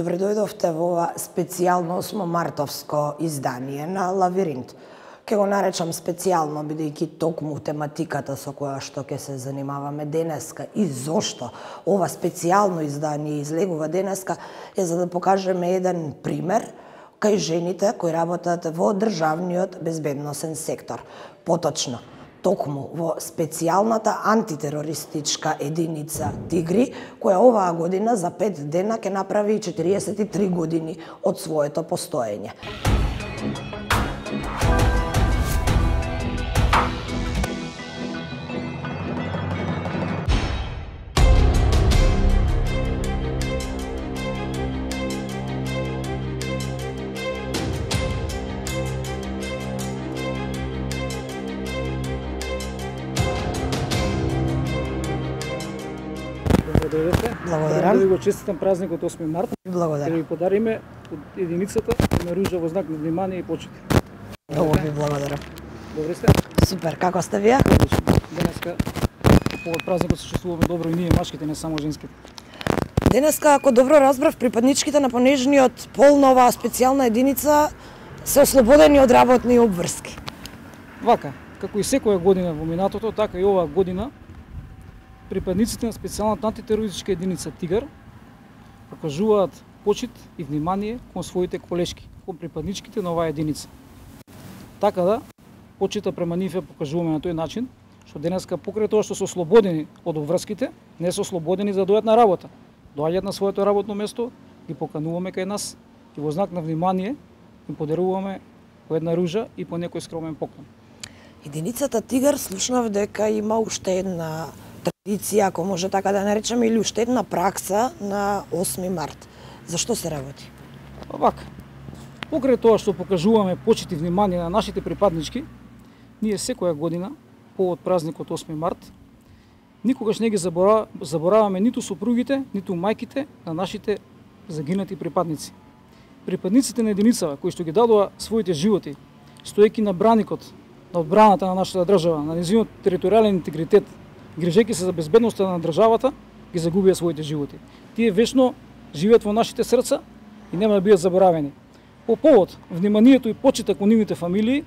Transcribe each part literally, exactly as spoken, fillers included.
Добре дојдовте во ова специјално осмомартовско издание на Лавиринт. Ке го наречам специјално, бидејќи токму тематиката со која што ќе се занимаваме денеска и зошто ова специјално издание излегува денеска е за да покажеме еден пример кај жените кои работат во државниот безбедносен сектор. Поточно, токму во специјалната антитерористичка единица Тигри, која оваа година за пет дена ќе направи четириесет и три години од своето постоење. Благодарам. Да ви го честитам празникот осми март. Благодарам. Да ви подариме од единицата на ружа во знак на внимание и почит. Многу ви благодарам. Добре сте? Супер, како сте вие? Одлично. Денеска по празникот се чувствуваме добро и ние машките, не само женските. Денеска, ако добро разбрав, припадничките на понежниот пол на оваа специјална единица се ослободени од работни обврски. Вака, како и секоја година во минатото, така и оваа година припадниците на специјалната антитерористичка единица Тигар покажуваат почит и внимание кон своите колешки, кон припадничките на оваа единица. Така да, почита према нив ја покажуваме на тој начин, што денеска покрај тоа што се ослободени од обврските, не се ослободени за да дојдат на работа. Доаѓаат на своето работно место, ги покануваме кај нас и во знак на внимание им подаруваме по една ружа и по некој скромен поклон. Единицата Тигар слушнав дека има уште една традиција, ако може така да наречеме, или уште една пракса на осми март. Зашто се работи? Вака, покрај тоа што покажуваме почит и внимание на нашите припаднички, ние секоја година, повод празникот осми март, никогаш не ги забора, забораваме ниту сопругите, ниту мајките на нашите загинати припадници. Припадниците на единицава, кои што ги дадоа своите животи, стоејќи на браникот на одбраната на нашата држава, на нејзиниот територијален интегритет, грижејќи се за безбедноста на државата, ги загубија своите животи. Тие вечно живеат во нашите срца и нема да бидат заборавени. По повод вниманието и почита кон нивните фамилии,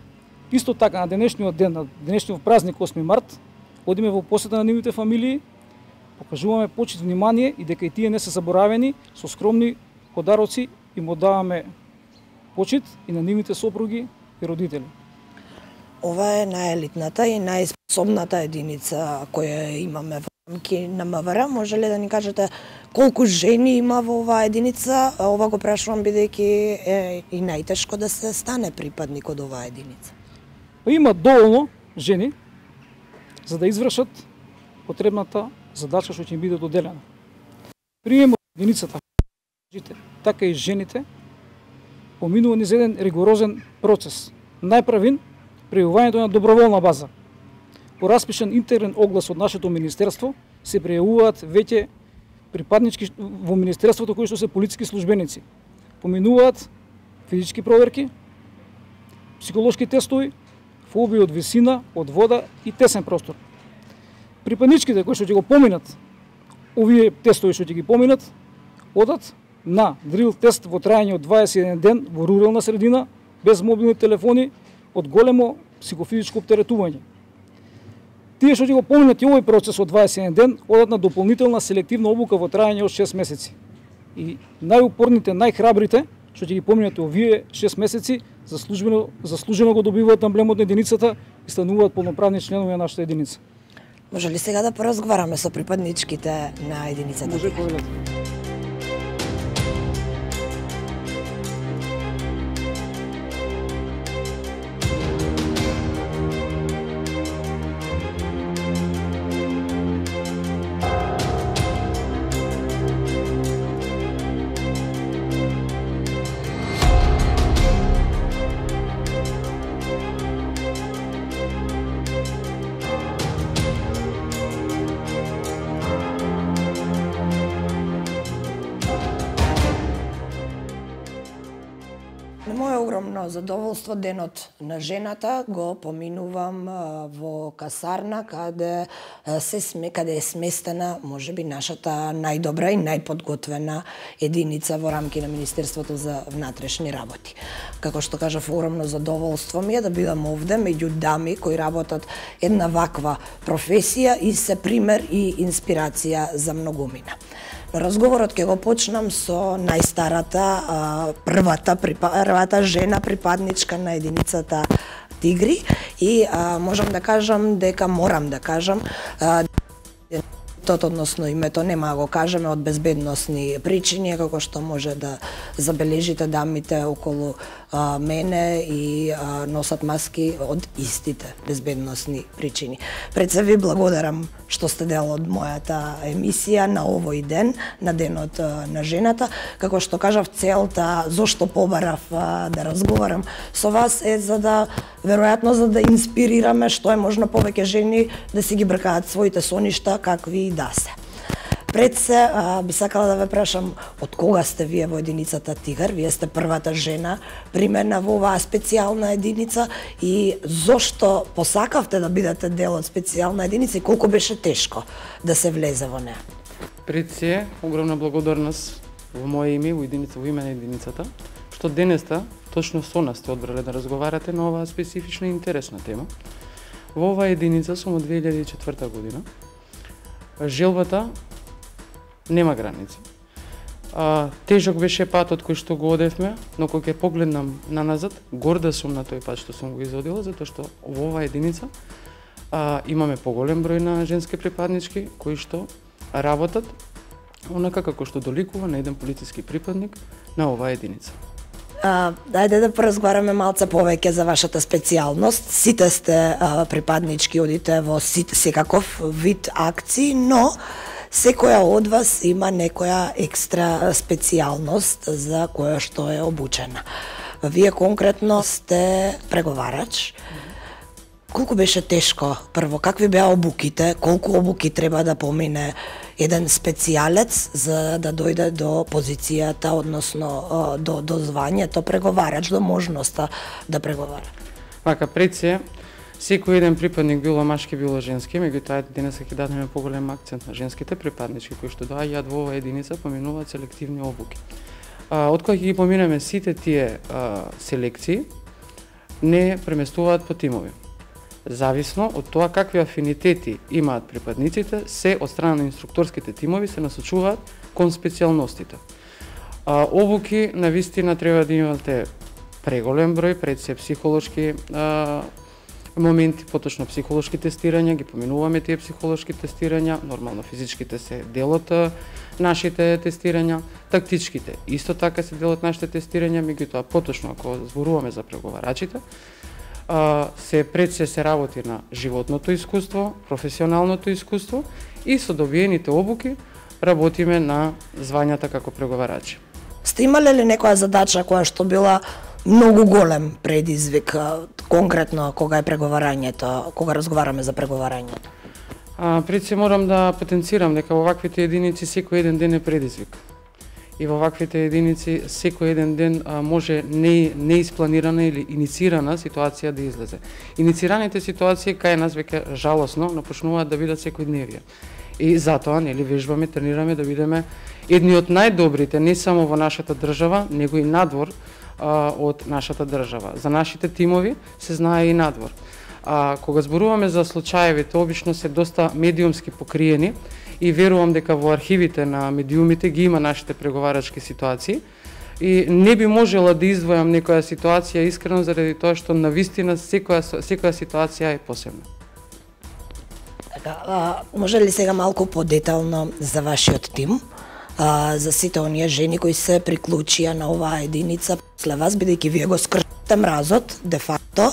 исто така на денешниот ден, на денешниот празник осми март, одиме во посета на нивните фамилии, покажуваме почит, внимание и дека и тие не се заборавени, со скромни подароци им одаваме почит и на нивните сопруги и родители. Ова е најелитната и најспособната единица која имаме во рамки на МВР. Може ли да ни кажете колку жени има во оваа единица? Ова го прашувам бидејќи е и најтешко да се стане припадник од оваа единица. Има доволно жени за да извршат потребната задача што ќе им биде доделена. Приемот единицата, така и жените, поминува низ еден ригорозен процес. Најправин пријавувањето на доброволна база. По распишан интерен оглас од нашето министерство се пријавуваат веќе припаднички во министерството кои што се полициски службеници. Поминуваат физички проверки, психолошки тестови, фобии од висина, од вода и тесен простор. Припадничките кои што ќе го поминат овие тестови што ќе ги поминат, одат на дрил тест во трајање од дваесет и еден ден во рурална средина, без мобилни телефони, од големо психофизичко оптеретување. Тие што ќе го поминат и овој процес од дваесет и еден ден, одат на дополнителна селективна обука во трајање од шест месеци. И најупорните, најхрабрите, што ќе ги поминат овие шест месеци, заслужено, заслужено го добиваат амблемот на единицата и стануваат полноправни членови на нашата единица. Може ли сега да поразговараме со припадничките на единицата? Може, повелете. На моје огромно задоволство денот на жената го поминувам во касарна каде се сме каде е сместена можеби нашата најдобра и најподготвена единица во рамки на Министерството за внатрешни работи. Како што кажав, огромно задоволство ми е да бидам овде меѓу дами кои работат една ваква професија и се пример и инспирација за многумина. Разговорот ќе го почнам со најстарата, првата, првата жена припадничка на единицата Тигри и а, можам да кажам дека морам да кажам а, односно името нема да го кажеме од безбедносни причини, како што може да забележите дамите околу а, мене и а, носат маски од истите безбедносни причини. Пред се ви благодарам што сте дел од мојата емисија на овој ден, на денот а, на жената. Како што кажав, целта зошто побарав а, да разговарам со вас е за да, веројатно за да инспирираме што е можно повеќе жени да си ги бркаат своите соништа какви да се. Пред се, а, би сакала да ве прашам, од кога сте вие во единицата Тигар? Вие сте првата жена примерна во оваа специјална единица и зошто посакавте да бидете дел од специјална единица и колку беше тешко да се влезе во неа? Пред се, огромна благодарност во моје име, во единица, во име на единицата, што денеста точно со нас сте одбрале да разговарате на оваа специфична и интересна тема. Во оваа единица сум од две илјади и четврта година. Желбата нема граници. А, тежок беше патот кој што го одевме, но кога ќе погледнам наназад, горда сум на тој пат што сум го изодила, затоа што во оваа единица а, имаме поголем број на женски припаднички кои што работат онака како што доликува на еден полициски припадник на оваа единица. А, дајде да поразговараме малце повеќе за вашата специјалност. Сите сте а, припаднички, одите во секаков вид акции, но секоја од вас има некоја екстра специјалност за која што е обучена. Вие конкретно сте преговарач. Колку беше тешко? Прво, какви беа обуките? Колку обуки треба да помине еден специјалец за да дојде до позицијата, односно до, до звањето преговарач, до можноста да преговара? Вака, пред се, секој еден припадник, било машки, било женски, меѓутоа денес ќе дадеме поголем акцент на женските припаднички кои што доаѓаат во оваа единица, поминуваат селективни обуки. А, од кога ќе ги поминеме сите тие а, селекции, не преместуваат по тимови. Зависно од тоа какви афинитети имаат припадниците, се од страна на инструкторските тимови се насочуваат кон специјалностите. А, обуки на вистина треба да имате преголем број, пред се психолошки а, моменти, поточно психолошки тестирања, ги поминуваме тие психолошки тестирања, нормално физичките се дел од нашите тестирања, тактичките исто така се дел од нашите тестирања, меѓутоа поточно ако зборуваме за преговарачите, се пред се се работи на животното искуство, професионалното искуство и со добиените обуки работиме на звањата како преговарачи. Сте имале ли некоја задача која што била многу голем предизвик, конкретно кога е преговарањето, кога разговараме за преговарањето? А, пред се морам да потенцирам дека во ваквите единици секој еден ден е предизвик. И во ваквите единици секој еден ден а, може не, неиспланирана или иницирана ситуација да излезе. Иницираните ситуации кај нас веќе жалосно напочнуваат да бидат секојдневие. И затоа нели вежбаме, тренираме да бидеме едни од најдобрите не само во нашата држава, него и надвор а, од нашата држава. За нашите тимови се знае и надвор. А кога зборуваме за случаевите, обично се доста медиумски покриени и верувам дека во архивите на медиумите ги има нашите преговарачки ситуации и не би можела да издвојам некоја ситуација искрено заради тоа што навистина секоја секоја ситуација е посебна. Така, а, може ли сега малку подетално за вашиот тим, а, за сите оние жени кои се приклучија на оваа единица после вас, бидејќи вие го скршите мразот, де факто,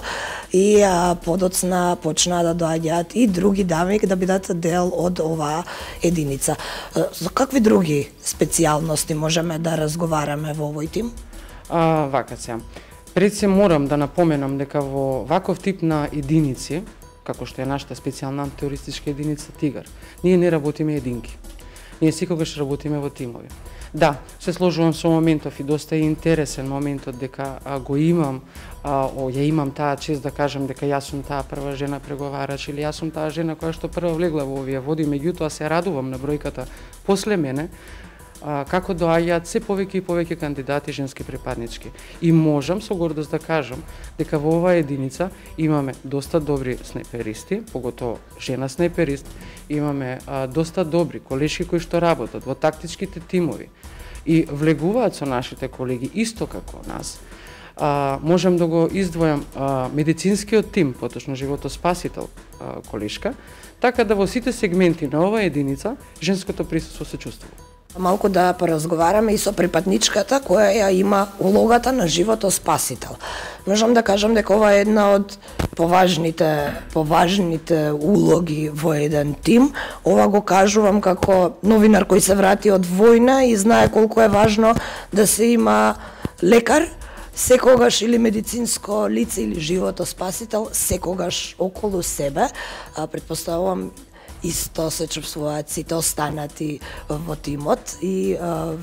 и а, подоцна почнаа да доаѓаат и други дами да бидат дел од оваа единица. За какви други специјалности можеме да разговараме во овој тим? А, вака се. Пред се морам да напоменам дека во ваков тип на единици, како што е нашата специјална теористичка единица Тигар, ние не работиме единки. Ние секогаш работиме во тимови. Да, се сложувам со моментов и доста е интересен моментот дека а, го имам, а, о, ја имам таа чест да кажам дека јас сум таа прва жена преговарач или јас сум таа жена која што прва влегла во овие води, меѓутоа се радувам на бројката после мене, а, како доаѓаат се повеќе и повеќе кандидати женски припаднички. И можам со гордост да кажам дека во оваа единица имаме доста добри снайперисти, поготово жена снайперист, имаме а, доста добри колешки кои што работат во тактичките тимови и влегуваат со нашите колеги исто како нас. А, можам да го издвојам а, медицинскиот тим, поточно животоспасител а, колешка, така да во сите сегменти на оваа единица женското присуство се чувствува. Малку да поразговараме и со припадничката која ја има улогата на животоспасител. Можам да кажам дека ова е една од поважните поважните улоги во еден тим. Ова го кажувам како новинар кој се врати од војна и знае колку е важно да се има лекар секогаш или медицинско лице или животоспасител секогаш околу себе. А, предпоставувам исто се чувствуваат сите останати во тимот и а,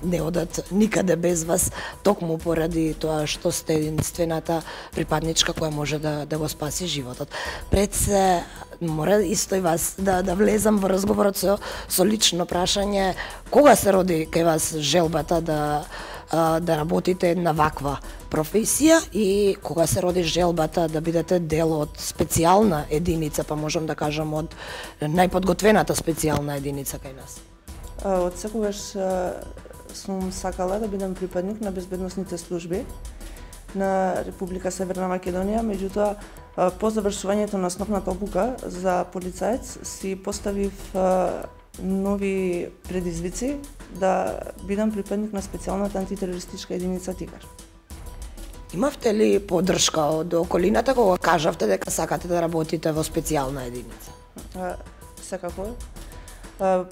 не одат никаде без вас, токму поради тоа што сте единствената припадничка која може да, да го спаси животот. Пред се, мора исто и вас да, да влезам во разговорот со, со лично прашање, кога се роди кај вас желбата да да работите една ваква професија и кога се роди желбата да бидете дел од специјална единица, па можам да кажам од најподготвената специјална единица кај нас? Од секогаш сум сакала да бидам припадник на безбедносните служби на Република Северна Македонија, меѓутоа по завршувањето на основната обука за полицаец си поставив нови предизвици да бидам припадник на специјалната антитерористичка единица Тигар. Имавте ли поддршка од околината кога кажавте дека сакате да работите во специјална единица? А, секако. А,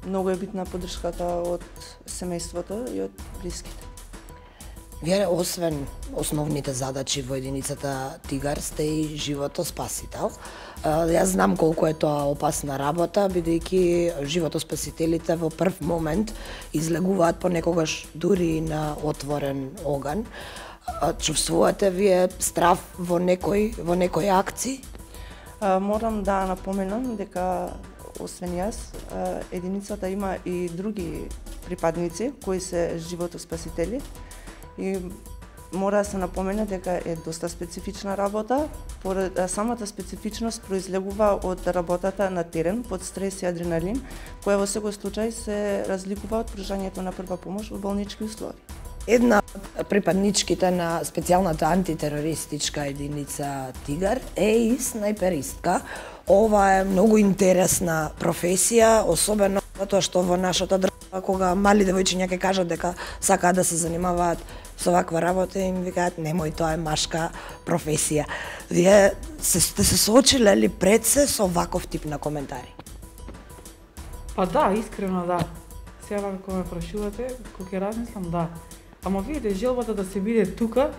многу е битна поддршката од семејството и од блиските. Вие, освен основните задачи во единицата Тигар, сте и животоспасител. Јас знам колку е тоа опасна работа, бидејќи животоспасителите во прв момент излегуваат понекогаш дури и на отворен оган. Чувствувате вие страв во некој во некои акции? Морам да напоменам дека освен јас, единицата има и други припадници кои се животоспасители. И мора да се напомене дека е доста специфична работа, поред самата специфичност произлегува од работата на терен под стрес и адреналин, која во секој случај се разликува од пружањето на прва помош во болнички услови. Една од припадничките на специјалната антитерористичка единица Тигар е и снайперистка. Ова е многу интересна професија, особено затоа што во нашата држава кога мали девојчиња ќе кажат дека сакаат да се занимаваат со ваква работа, им викаат немој, тоа е машка професија. Вие се, сте се соочиле ли пред се со ваков тип на коментари? Па да, искрено да. Сега кога ме прашувате, кога ќе размислам, да. Ама видите, желбата да се биде тука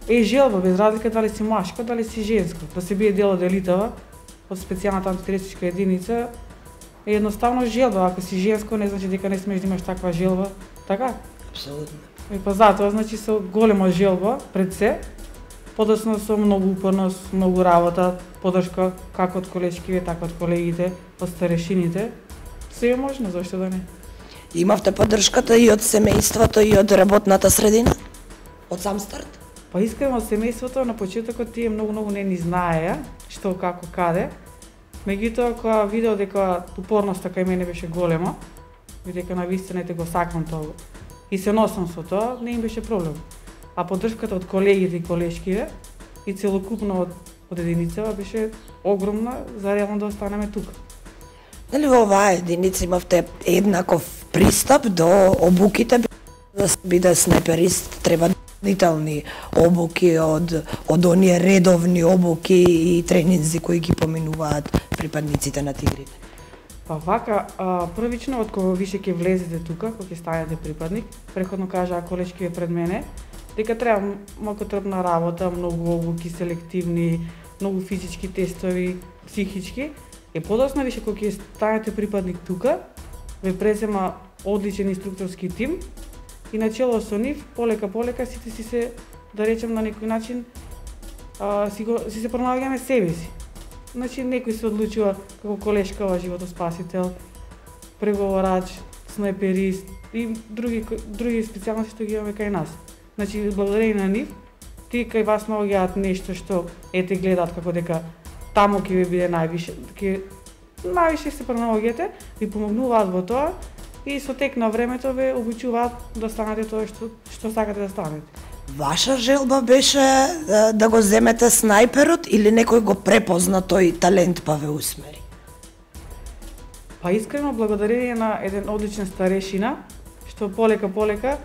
е желба, без разлика дали си машко, дали си женско. Да се биде дел од елитава, од специјалната антитерористичка единица, е едноставно желба. Ако си женско, не значи дека не смеш да имаш таква желба, така? Апсолутно. И па затоа, значи, со голема желба пред се, подоцна со многу упорност, многу работа, поддршка како од колешкиве, така од колегите, од старешините, се е можно, зашто да не? Имавте поддршката и од семејството и од работната средина? Од сам старт? Па искрено од семејството на почетокот тие многу многу не ни знаеа што како каде. Меѓутоа кога видео дека упорноста кај мене беше голема, дека навистина го сакам тоа и се носам со тоа, не им беше проблем. А поддршката од колегите и колешкиве и целокупно од, од единицава беше огромна за реално да останеме тука. Дали во оваа единица имавте еднаков пристап до обуките? Да се биде снайперист треба допълнителни обуки од од оние редовни обуки и тренинзи кои ги поминуваат припадниците на Тигрите? Па вака, а, првично од кога више ќе влезете тука, кога ќе станете припадник, преходно кажаа колешкиве пред мене, дека треба малку трпна работа, многу обуки селективни, многу физички тестови, психички. И подоцна више кога ќе станете припадник тука, ве презема одличен инструкторски тим и начело со нив полека полека сите си се, да речем на некој начин, а, си, го, си се пронаоѓаме себе си. Значи некој се одлучува како колешкава животоспасител, преговорач, снайперист и други други специјалности што ги имаме кај нас. Значи благодарение на нив, ти кај вас наоѓаат нешто што ете гледаат како дека таму ќе ви биде највише, ќе највише се пронаоѓате, ви помогнуваат во тоа и со тек на времето ве обучуваат да станете тоа што што сакате да станете. Ваша желба беше да, да го земете снајперот или некој го препозна тој талент па ве усмери? Па искрено благодарение на еден одличен старешина, што полека полека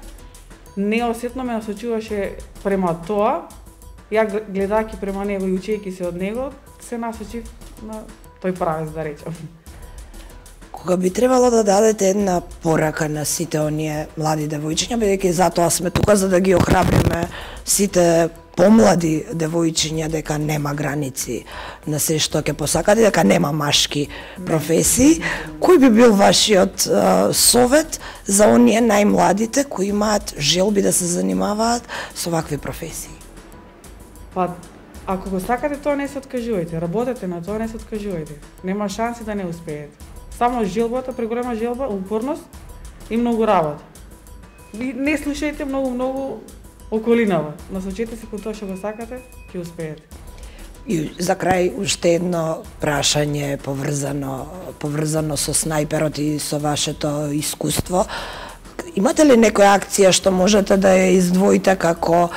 неосетно ме насочуваше према тоа, ја гледајќи према него и учејќи се од него, се насочив на тој правец, да речам. Кога би требало да дадете една порака на сите оние млади девојчиња, бидејќи затоа сме тука за да ги охрабриме сите помлади девојчиња дека нема граници на се што ќе посакате, дека нема машки професии, кој би бил вашиот а, совет за оние најмладите кои имаат желби да се занимаваат со вакви професии? Па, ако го сакате тоа, не се откажувајте, работете на тоа, не се откажувајте. Нема шанси да не успеете. Само желбата, преголема желба, упорност и многу работа. И не слушајте многу многу околинава. Насочете се кон тоа што го сакате, ќе успеете. И за крај уште едно прашање поврзано поврзано со снајперот и со вашето искуство. Имате ли некоја акција што можете да ја издвоите како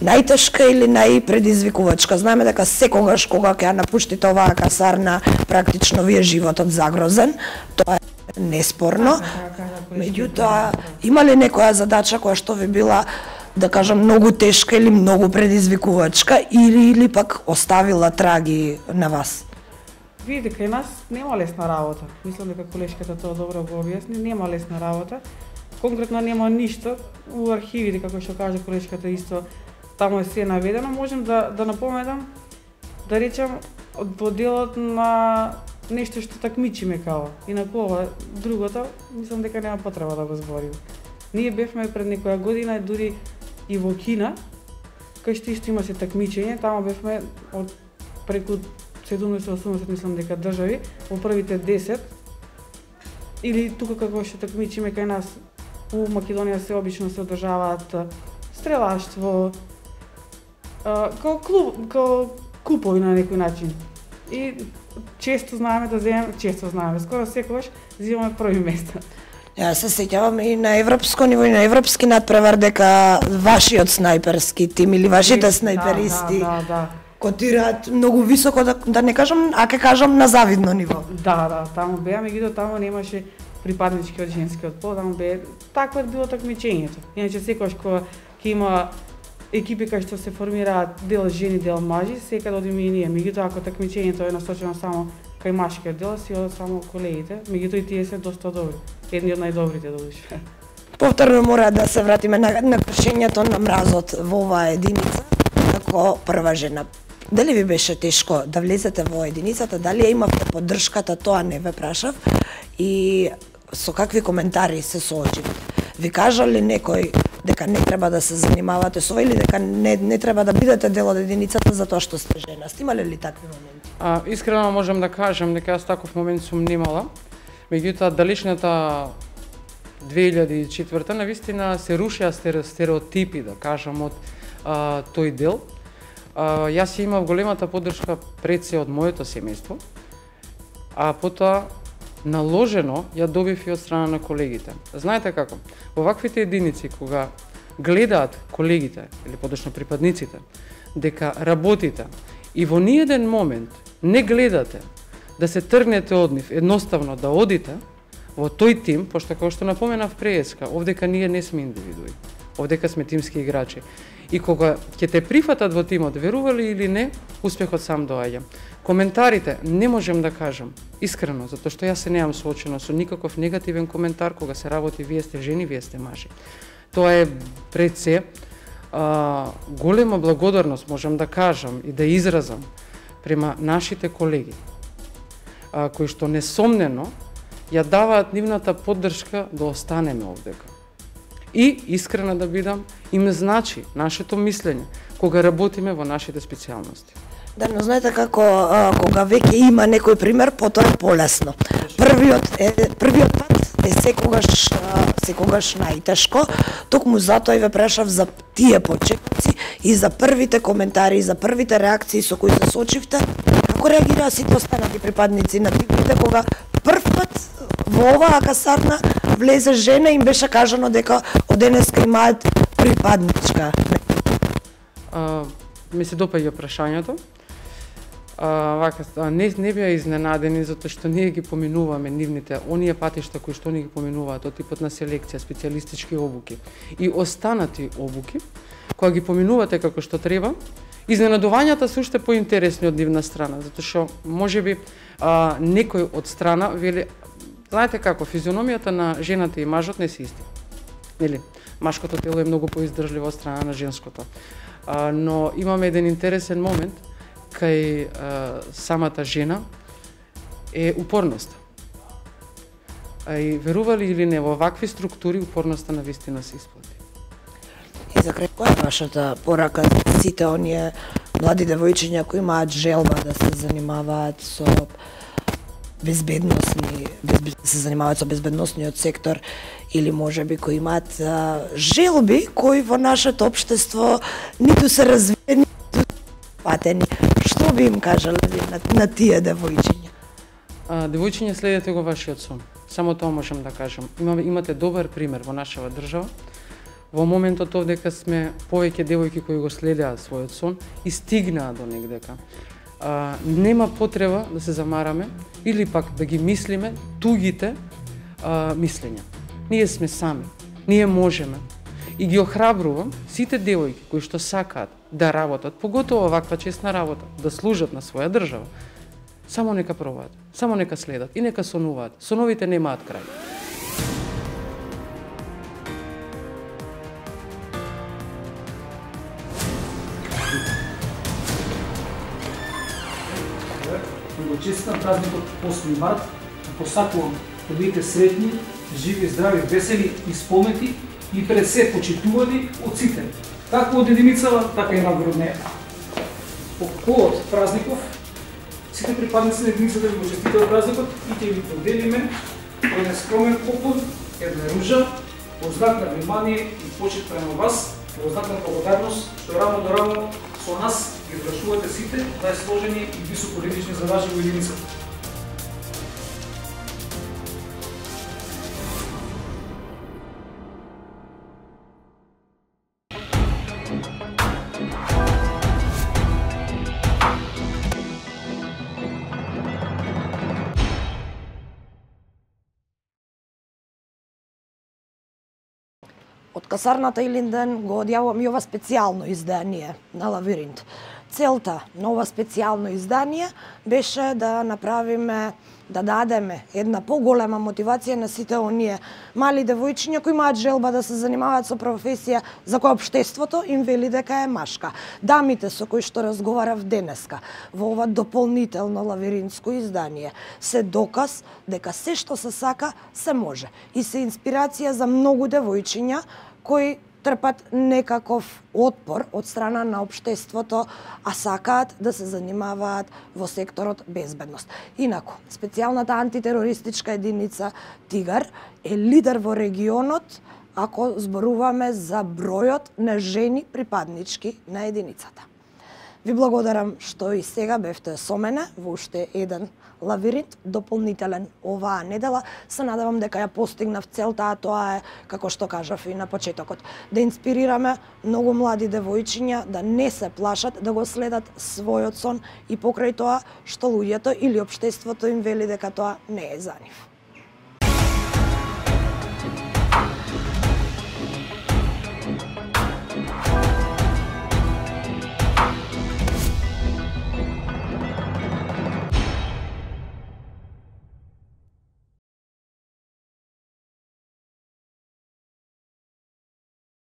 најтешка или најпредизвикувачка? Знаеме дека секогаш кога ќе ја напуштите оваа касарна, практично ви е животот загрозен. Тоа е неспорно. Меѓутоа, има ли некоја задача која што ви била, да кажам, многу тешка или многу предизвикувачка, или или пак оставила траги на вас? Видите, кај нас нема лесна работа. Мислам дека колешката тоа добро го објасни, нема лесна работа. Конкретно нема ништо. У архивите, како што кажа колешката, исто таму е се наведено. Можем да да напоменам, да речем, во делот на нешто што такмичиме као. Инаку другото, мислам дека нема потреба да го збориме. Ние бевме пред некоја година дури и во Кина, кај што исто имаше такмичење, таму бевме од преку седумдесет-осумдесет мислам дека држави, во првите десет. Или тука како што такмичиме кај нас у Македонија се обично се одржаваат стрелаштво, као клуб, као купови на некој начин. И често знаеме да земеме, често знаеме, скоро секогаш земаме први места. Ја се сеќавам и на европско ниво и на европски надпревар дека вашиот снајперски тим или вашите снајперисти да, да, да. котираат многу високо, да, да не кажам, а ке кажам на завидно ниво. Да, да, таму беа, меѓутоа таму немаше припадничкиот женскиот пол, таму бе такво било такмичењето. Иначе секогаш кога ќе има екипи кај што се формираат дел жени, дел мажи, секаде одиме и ние. Меѓутоа ако такмичењето е насочено само кај машкиот дел, си одат само колегите, меѓутоа и тие се доста добри. Едни од најдобрите додуше. Повторно мора да се вратиме на, на кршењето на мразот во оваа единица како прва жена. Дали ви беше тешко да влезете во единицата, дали ја имавте поддршката, тоа не ве прашав, и со какви коментари се соочивте? Ви кажа ли некој дека не треба да се занимавате со или дека не, не треба да бидете дел од единицата затоа што сте жена? Имале ли такви моменти? А, искрено можам да кажам дека јас таков момент сум немала. Меѓутоа, далечната две илјади и четврта навистина се рушеа стереотипи, да кажам, од а, тој дел. А, јас имав големата поддршка пред се од моето семејство, а потоа наложено ја добив и од страна на колегите. Знаете како? Во ваквите единици, кога гледаат колегите, или подошно припадниците, дека работите и во ниеден момент не гледате да се тргнете од нив, едноставно да одите во тој тим, пошто како што напоменав преска, овдека ние не сме индивидуи, овдека сме тимски играчи. И кога ќе те прифатат во тимот, верували или не, успехот сам доаѓа. Коментарите не можем да кажам искрено, затоа што јас се неам соочено со никаков негативен коментар кога се работи вие сте жени, вие сте мажи. Тоа е пред се а, голема благодарност, можам да кажам и да изразам према нашите колеги, а, кои што несомнено ја даваат нивната поддршка да останеме овдека. И, искрена да бидам, им значи нашето мислење кога работиме во нашите специјалности. Да, но знаете како, а, кога веќе има некој пример, потоа е полесно. Првиот е првиот пат е секогаш а, секогаш најтешко, токму затоа и ве прашав за тие почетоци и за првите коментари, и за првите реакции со кои се соочивте. Како реагираа сите останати припадници на тивите кога прв пат во оваа касарна влезе жена и им беше кажано дека од денеска имаат припадничка? А, ми се допаѓа прашањето. А, вака, не, не беа изненадени затоа што ние ги поминуваме нивните, оние патишта кои што они ги поминуваат од типот на селекција, специјалистички обуки и останати обуки, кога ги поминувате како што треба, изненадувањата се уште поинтересни од нивна страна, затоа што можеби а, некој од страна вели, знаете како, физиономијата на жената и мажот не се исти. Нели? Машкото тело е многу поиздржливо од страна на женското. А, но имаме еден интересен момент кај а, самата жена е упорноста. А и верували или не, во вакви структури упорноста на вистина се исплати. И за крај, која е вашата порака за сите оние млади девојчиња кои имаат желба да се занимаваат со безбедносни, безбед, се занимаваат со безбедносниот сектор или можеби кои имаат а, желби кои во нашето општество ниту се развиени, ниту патени? Што би им кажале на, на тие девојчиња? А, девојчиња, следете го вашиот сон. Само тоа можам да кажам. Имаме, имате добар пример во нашава држава. Во моментот овдека сме повеќе девојки кои го следеа својот сон и стигнаа до негдека. А, нема потреба да се замараме или пак да ги мислиме тугите а, мислења. Ние сме сами, ние можеме. И ги охрабрувам сите девојки кои што сакаат да работат, поготово ваква честна работа, да служат на своја држава. Само нека пробаат, само нека следат и нека сонуваат. Соновите немаат крај. Го честитам празникот осми март, посакувам да бидете среќни, живи, здрави, весели и споменти и пред се почитувани од сите, како од единицава, така и надвор од неја. По повод празников, сите припадници на единицата ви го честитаат празникот и ќе ви поделиме еден скромен поклон, една ружа, во знак на внимание и почит према вас, во знак на благодарност, што рамо до рамо со нас ги извршувате сите најсложени и високолетични задачи во единицата. Од касарната Илинден го одјавам и ова специјално издание на Лавиринт. Целта на ова специјално издание беше да направиме, да дадеме една поголема мотивација на сите оние мали девојчиња кои имаат желба да се занимаваат со професија за која општеството им вели дека е машка. Дамите со кои што разговарав денеска во ова дополнително лавиринтско издание се доказ дека се што се сака се може и се инспирација за многу девојчиња кои трпат некаков отпор од страна на општеството, а сакаат да се занимаваат во секторот безбедност. Инаку, специјалната антитерористичка единица Тигар е лидер во регионот ако зборуваме за бројот на жени припаднички на единицата. Ви благодарам што и сега бевте со мене во уште еден лавиринт дополнителен оваа недела. Се надевам дека ја постигнав целта, а тоа е, како што кажав и на почетокот, да инспирираме многу млади девојчиња да не се плашат, да го следат својот сон и покрај тоа што луѓето или општеството им вели дека тоа не е за нив.